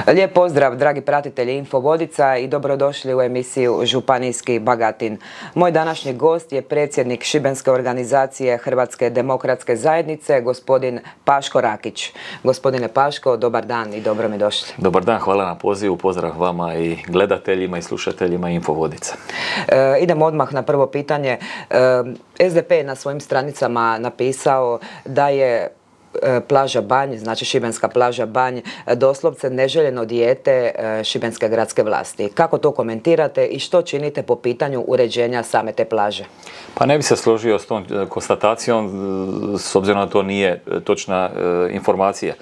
Lijep pozdrav, dragi pratitelji Infovodica i dobrodošli u emisiju Županijski Bagatin. Moj današnji gost je predsjednik šibenske organizacije Hrvatske demokratske zajednice, gospodin Paško Rakić. Gospodine Paško, dobar dan i dobro mi došli. Dobar dan, hvala na pozivu, pozdrav vama i gledateljima i slušateljima Infovodica. Idemo odmah na prvo pitanje. SDP je na svojim stranicama napisao da je plaža Banj, znači šibenska plaža Banj, doslovce neželjeno dijete šibenske gradske vlasti. Kako to komentirate i što činite po pitanju uređenja same te plaže? Pa ne bi se složio s tom konstatacijom, s obzirom da to nije točna informacija.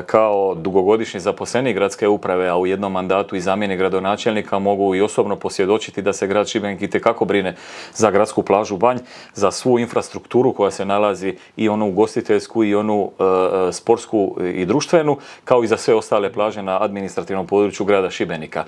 Kao dugogodišnji zaposlenik gradske uprave, a u jednom mandatu i zamjenik gradonačelnika, mogu i osobno posvjedočiti da se grad Šibenik itekako brine za gradsku plažu Banj, za svu infrastrukturu koja se nalazi, i onu ugostiteljsku i onu sportsku i društvenu, kao i za sve ostale plaže na administrativnom području grada Šibenika.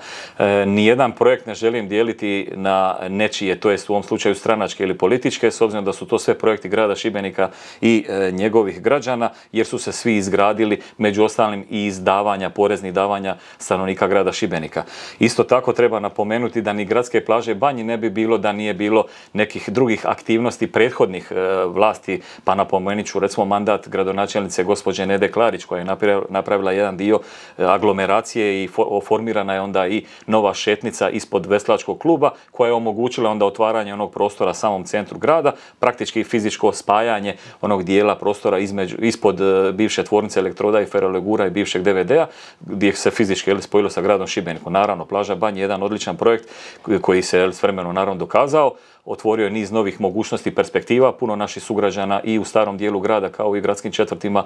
Nijedan projekt ne želim dijeliti na nečije, to jest u ovom slučaju stranačke ili političke, s obzirom da su to sve projekti grada Šibenika i njegovih građana, jer su se svi izgradili, među ostalim i iz davanja, poreznih davanja stanovnika grada Šibenika. Isto tako treba napomenuti da ni gradske plaže Banji ne bi bilo da nije bilo nekih drugih aktivnosti prethodnih vlasti, pa napomenut ću recimo mandat gradonačelnice gospođe Nede Klarić, koja je napravila jedan dio aglomeracije i formirana je onda i nova šetnica ispod veslačkog kluba, koja je omogućila onda otvaranje onog prostora samom centru grada, praktički fizičko spajanje onog dijela prostora ispod bivše tvornice elektroda i ferolegura i bivšeg DVD-a, gdje se fizički spojilo sa gradom Šibenikom. Naravno, plaža Banj je jedan odličan projekt koji se s vremenom naravno dokazao. Otvorio je niz novih mogućnosti i perspektiva. Puno naših sugrađana i u starom dijelu grada, kao i u gradskim četvrtima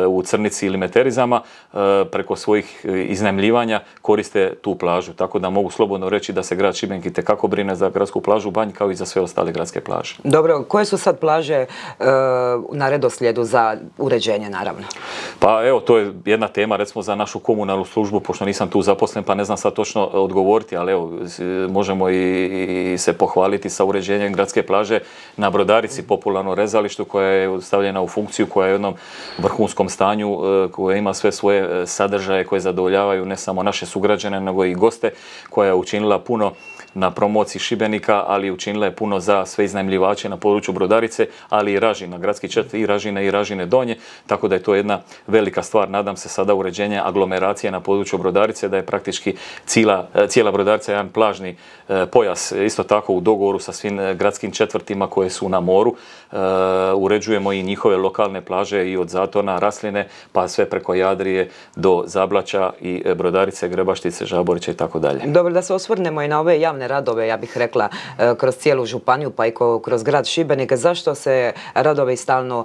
u Crnici ili Meterizama, preko svojih iznajmljivanja koriste tu plažu. Tako da mogu slobodno reći da se grad Šibenik itekako brine za gradsku plažu Banj, kao i za sve ostale gradske plaže. Dobro, koje su sad plaže na redoslijedu za uređenje, naravno? Pa evo, to je jedna tema recimo za našu komunalnu službu, pošto nisam tu zaposlen pa ne znam sad točno odgovoriti, ali evo, možemo i se pohvaliti sa uređenjem gradske plaže na Brodarici, popularno rezalištu, koja je stavljena u funkciju, koja je u jednom vrhunskom stanju, koja ima sve svoje sadržaje koje zadovoljavaju ne samo naše sugrađane, nego i goste, koja je učinila puno na promociji Šibenika, ali učinila je puno za sve iznajmljivače na području Brodarice, ali i Ražina, gradski četvrt i Ražine i Ražine Donje, tako da je to jedna velika stvar. Nadam se sada uređenje aglomeracije na području Brodarice, da je praktički cijela Brodarica jedan plažni pojas, isto tako u dogovoru sa svim gradskim četvrtima koje su na moru. Uređujemo i njihove lokalne plaže i od Zatona, Rasline, pa sve preko Jadrije do Zablaća i Brodarice, Grebaštice, Žaborića i tako dalje. Dobro, da se osvrnemo i na ove javne radove, ja bih rekla, kroz cijelu županiju pa i kroz grad Šibenik. Zašto se radovi stalno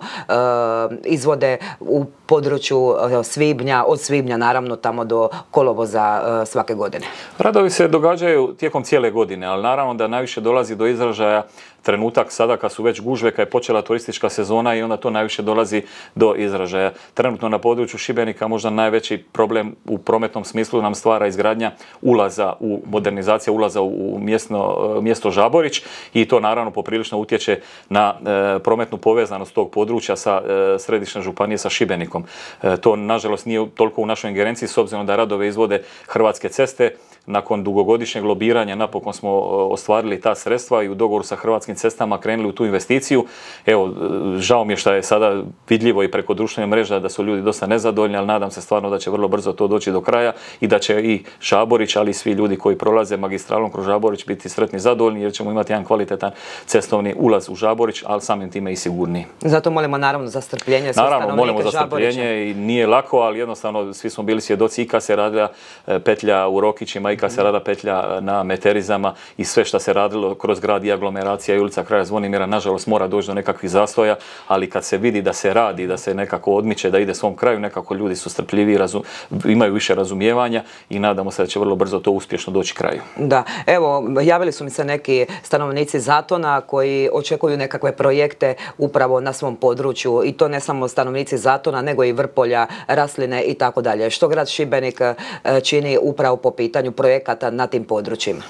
izvode u području svibnja, od svibnja naravno tamo do kolovoza svake godine? Radovi se događaju tijekom cijele godine, ali naravno da najviše dolazi do izražaja trenutak sada kad su već gužve, kad je počela turistička sezona, i onda to najviše dolazi do izražaja. Trenutno na području Šibenika možda najveći problem u prometnom smislu nam stvara izgradnja ulaza, modernizacija ulaza u mjesto Žaborić, i to naravno poprilično utječe na prometnu povezanost tog područja sa središnje županije sa Šibenikom. To nažalost nije toliko u našoj ingerenciji, s obzirom da radove izvode Hrvatske ceste. Nakon dugogodišnjeg lobiranja napokon smo ostvarili ta sredstva i u dogovoru sa Hrvatskim cestama krenuli u tu investiciju. Evo, žao mi je što je sada vidljivo i preko društvenih mreža da su ljudi dosta nezadovoljni, ali nadam se stvarno da će vrlo brzo to doći do kraja i da će i Žaborić, ali i svi ljudi koji prolaze magistralom kroz Žaborić biti sretni i zadovoljni, jer ćemo imati jedan kvalitetan cestovni ulaz u Žaborić, ali samim time i sigurniji. Zato molimo naravno za strpljenje. Naravno, molimo za strpljenje i nije lako, ali jednostavno svi smo bili svjedoci i kad se radila petlja u Rokićima i kad se rada petlja na Meterizama i sve što se radilo kroz grad i aglomeracija i ulica kraja Zvonimira, nažalost mora doći do nekakvih zastoja, ali kad se vidi da se radi, da se nekako odmiče, da ide svom kraju, nekako ljudi su strpljivi, imaju više razumijevanja i nadamo se da će vrlo brzo to uspješno doći kraju. Da, evo, javili su mi se neki stanovnici Zatona koji očekuju nekakve projekte upravo na svom području, i to ne samo stanovnici Zatona, nego i Vrpolja, Rasline i tako dalje. Što grad Šibenik čini upravo po pitanju projekata na tim područjima?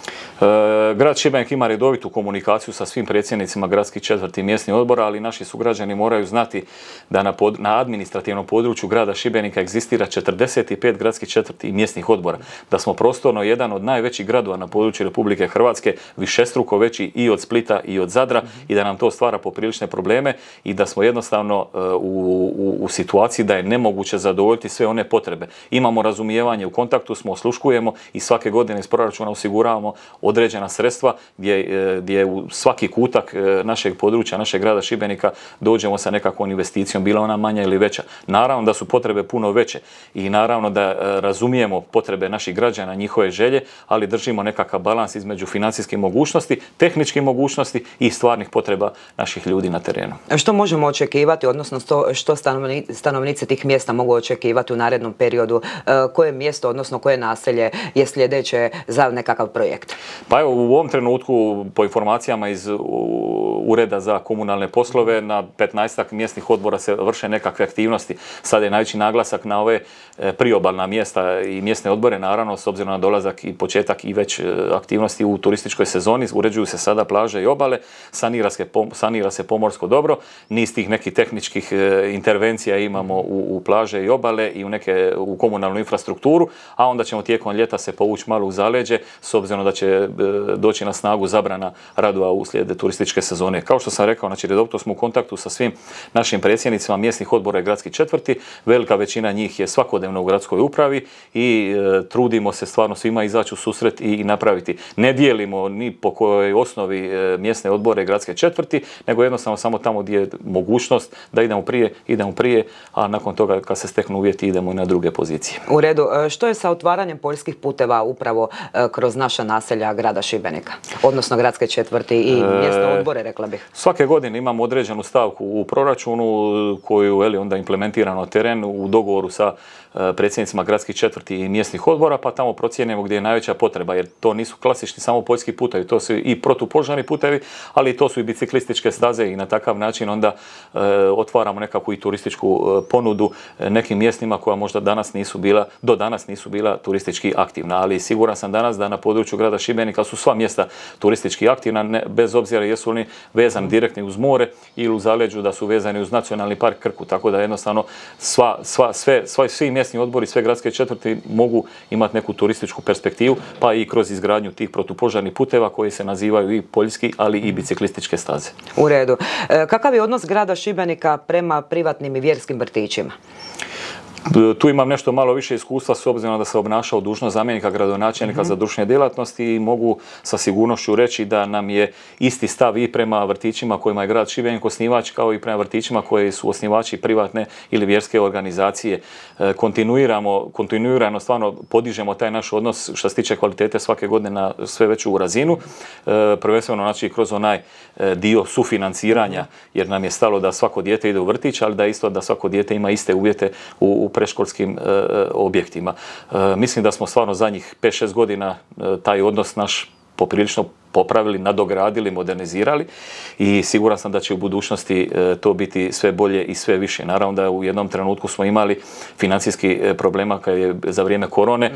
Grad Šibenik ima redovitu komunikaciju sa svim predsjednicima gradskih četvrti i mjesnih odbora, ali naši sugrađani moraju znati da na administrativnom području grada Šibenika egzistira 45 gradskih četvrti i mjesnih odbora. Da smo prostorno jedan od najvećih gradova na području Republike Hrvatske, višestruko veći i od Splita i od Zadra, i da nam to stvara poprilične probleme i da smo jednostavno u situaciji da je nemoguće zadovoljiti sve one potrebe. Imamo razumijevanje, u kontaktu smo, osluškujemo i svake godine iz proračuna osiguravamo određena sredstva gdje u svaki kutak našeg područja, našeg grada Šibenika dođemo sa nekakvom investicijom, bila ona manja ili veća. Naravno da su potrebe puno veće i naravno da razumijemo potrebe naših građana, njihove želje, ali držimo nekakav balans između financijskih mogućnosti, tehničkih mogućnosti i stvarnih potreba naših ljudi na terenu. Što možemo očekivati, odnosno što stanovnici tih mjesta mogu očekivati u narednom periodu? Koje mjesto, odnosno koje naselje je sljedeće za nekakav projekt? Pa evo, u ovom trenutku, po informacijama iz Ureda za komunalne poslove, na 15-ak mjesnih odbora se vrše nekakve aktivnosti. Sad je najveći naglasak na ove priobalna mjesta i mjesne odbore, naravno, s obzirom na dolazak i početak i već aktivnosti u turističkoj sezoni. Uređuju se sada plaže i obale, sanira se pomorsko dobro, niz tih nekih tehničkih intervencija imamo u plaže i obale i u komunalnu infrastrukturu, a onda ćemo tijekom ljeta se povući malo u zaleđe, s obzirom da će doći na snagu zabrana radova uslijed turističke sezone. Kao što sam rekao, znači redovito smo u kontaktu sa svim našim predsjednicima mjesnih odbora i gradskih četvrti. Velika većina njih je svakodnevno u gradskoj upravi i trudimo se stvarno svima izaći u susret i napraviti. Ne dijelimo ni po kojoj osnovi mjesne odbore i gradske četvrti, nego jednostavno samo tamo gdje je mogućnost da idemo prije, a nakon toga kad se steknu uvjeti idemo i na druge pozicije. U redu. Što je sa otvaranjem poljskih puteva upravo kroz naša naselja grada Šibenika, odnosno gradske četvrti i mjesne odbore, rekla bih? Svake godine imamo određenu stavku u proračunu koju onda implementiramo na teren u dogovoru sa predsjednicima gradskih četvrti i mjesnih odbora, pa tamo procijenimo gdje je najveća potreba, jer to nisu klasični samo poljski putevi, to su i protupožarni putevi, ali to su i biciklističke staze i na takav način onda otvaramo nekakvu i turističku ponudu nekim mjestima koja možda do danas nisu bila turistički aktivna, ali siguran sam danas da na području grada Šibenika su sva mjesta turistički aktivna, bez obzira jesu li vezani direktni uz more ili u zaleđu da su vezani uz Nacionalni park Krku, tako da jednostavno svi mjesni odbori, sve gradske četvrti mogu imati neku turističku perspektivu, pa i kroz izgradnju tih protupožarnih puteva koji se nazivaju i poljski, ali i biciklističke staze. U redu. Kakav je odnos grada Šibenika prema privatnim i vjerskim vrtićima? Tu imam nešto malo više iskustva s obzirom da sam obnašao dužnost zamjenika gradonačelnika za društvene djelatnosti i mogu sa sigurnošću reći da nam je isti stav i prema vrtićima kojima je grad Šibenik osnivač, kao i prema vrtićima koji su osnivači privatne ili vjerske organizacije. Kontinuirano stvarno podižemo taj naš odnos što se tiče kvalitete svake godine na sve veću razinu, prvenstveno znači kroz onaj dio sufinanciranja, jer nam je stalo da svako dijete ide u vrtić, ali da svako dijete ima iste uvjete u predškolskim objektima. Mislim da smo stvarno zadnjih 5-6 godina taj odnos naš poprilično popravili, nadogradili, modernizirali i siguran sam da će u budućnosti to biti sve bolje i sve više. Naravno da u jednom trenutku smo imali financijski problema kad je za vrijeme korone,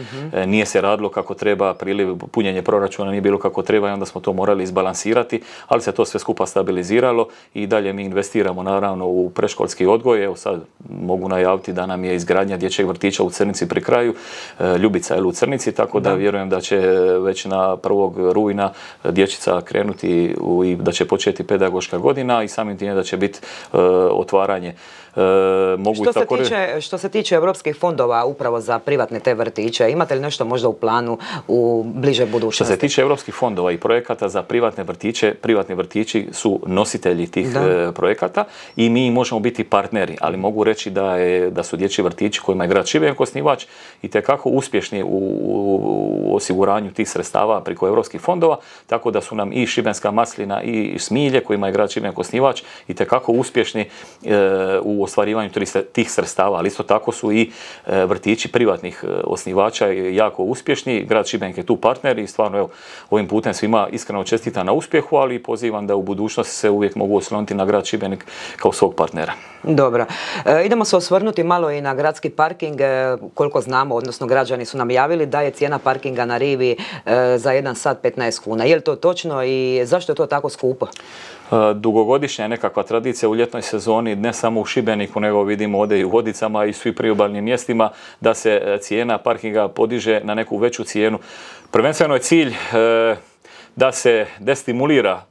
nije se radilo kako treba, priliv, punjenje proračuna nije bilo kako treba i onda smo to morali izbalansirati, ali se to sve skupa stabiliziralo i dalje mi investiramo naravno u predškolski odgoj. Evo sad mogu najaviti da nam je izgradnja dječjeg vrtića u Crnici pri kraju, Ljubica je u Crnici, tako da vjerujem da će već na 1. rujna dječica krenuti i da će početi pedagoška godina i samim time da će biti otvaranje. Što se tiče europskih fondova upravo za privatne te vrtiće, imate li nešto možda u planu u bliže budućnosti? Što se tiče europskih fondova i projekata za privatne vrtiće, privatni vrtići su nositelji tih projekata i mi možemo biti partneri, ali mogu reći da su dječji vrtići kojima je grad Šibenik osnivač itekako uspješni u osiguranju tih sredstava preko europskih fondova, tako da su nam i Šibenska maslina i Smilje kojima je grad Šibenik osnivač itekako uspješni u ostvarivanju tih sredstava, ali isto tako su i vrtići privatnih osnivača jako uspješni. Grad Šibenik je tu partner i stvarno evo, ovim putem svima iskreno čestitam na uspjehu, ali pozivam da u budućnosti se uvijek mogu osloniti na grad Šibenik kao svog partnera. Dobro. Idemo se osvrnuti malo i na gradski parking. Koliko znamo, odnosno građani su nam javili da je cijena parkinga na rivi za 1 sat 15 kuna. Je li to točno i zašto je to tako skupo? Dugogodišnja je nekakva tradicija u ljetnoj sezoni, ne samo u Šibeniku, nego vidimo ovdje i u Vodicama i svi priobalnim mjestima, da se cijena parkinga podiže na neku veću cijenu. Prvenstveno je cilj da se destimulira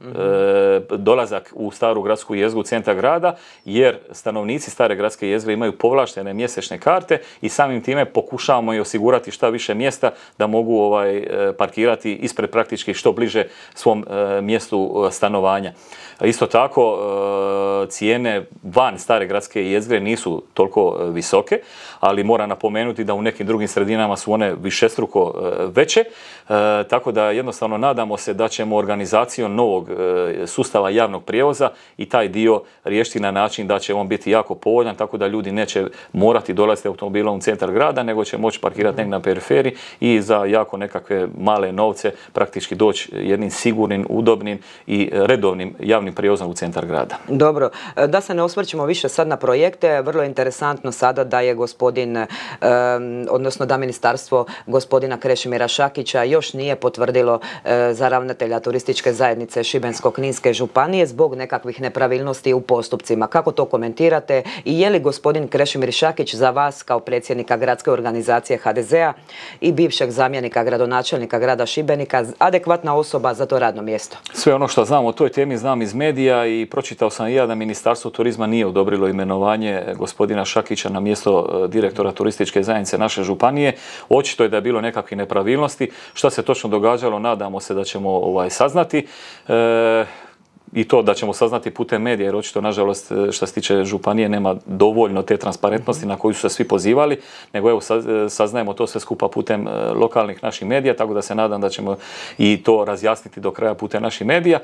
dolazak u staru gradsku jezgru centra grada, jer stanovnici stare gradske jezgre imaju povlaštene mjesečne karte i samim time pokušavamo i osigurati šta više mjesta da mogu parkirati ispred praktički što bliže svom mjestu stanovanja. Isto tako, cijene van stare gradske jezgre nisu toliko visoke, ali moram napomenuti da u nekim drugim sredinama su one višestruko veće, tako da jednostavno nadamo se da ćemo organizacijom novog sustava javnog prijevoza i taj dio riješiti na način da će on biti jako povoljan, tako da ljudi neće morati dolaziti automobilom u centar grada, nego će moći parkirati negdje na periferiji i za jako nekakve male novce praktički doći jednim sigurnim, udobnim i redovnim javnim prijevozom u centar grada. Dobro, da se ne osvrćemo više sad na projekte, vrlo je interesantno sada da je odnosno da ministarstvo gospodina Krešimira Šakića još nije potvrdilo za ravnatelja turističke zajednice Šibensko-kninske županije zbog nekakvih nepravilnosti u postupcima. Kako to komentirate i je li gospodin Krešimir Šakić za vas kao predsjednika gradske organizacije HDZ-a i bivšeg zamjenika gradonačelnika grada Šibenika adekvatna osoba za to radno mjesto? Sve ono što znam o toj temi znam iz medija i pročitao sam i ja da Ministarstvo turizma nije odobrilo imenovanje gospodina Šakića na mjesto direktora turističke zajednice naše županije. Očito je da je bilo nekakvih nepravilnosti. Šta se točno događalo, nadamo se da ćemo saznati. I to da ćemo saznati putem medija, jer očito, nažalost, što se tiče županije, nema dovoljno te transparentnosti na koju su se svi pozivali, nego evo saznajemo to sve skupa putem lokalnih naših medija, tako da se nadam da ćemo i to razjasniti do kraja putem naših medija.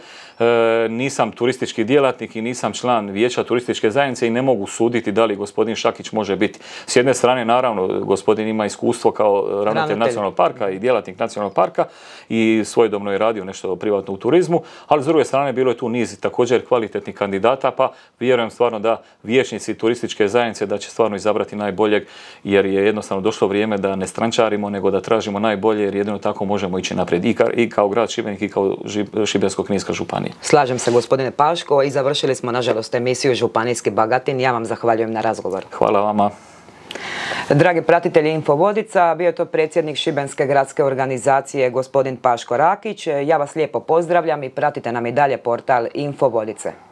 Nisam turistički djelatnik i nisam član vijeća turističke zajednice i ne mogu suditi da li gospodin Šakić može biti. S jedne strane, naravno, gospodin ima iskustvo kao ravnatelj nacionalnog parka i djelatnik nacionalnog parka i svojedobno je radio nešto privatno u turizmu, ali s druge strane bilo je tu niz također kvalitetnih kandidata, pa vjerujem stvarno da vijećnici turističke zajednice da će stvarno izabrati najboljeg, jer je jednostavno došlo vrijeme da ne strančarimo, nego da tražimo najbolje, jer jedino tako možemo ići naprijed i kao grad Šibenik i kao Šibensko-kninska županija. Slažem se, gospodine Paško, i završili smo nažalost emisiju Županijski Bagatin. Ja vam zahvaljujem na razgovor. Hvala vama. Dragi pratitelji Infovodica, bio je to predsjednik Šibenske gradske organizacije gospodin Paško Rakić. Ja vas lijepo pozdravljam i pratite nam i dalje portal Infovodice.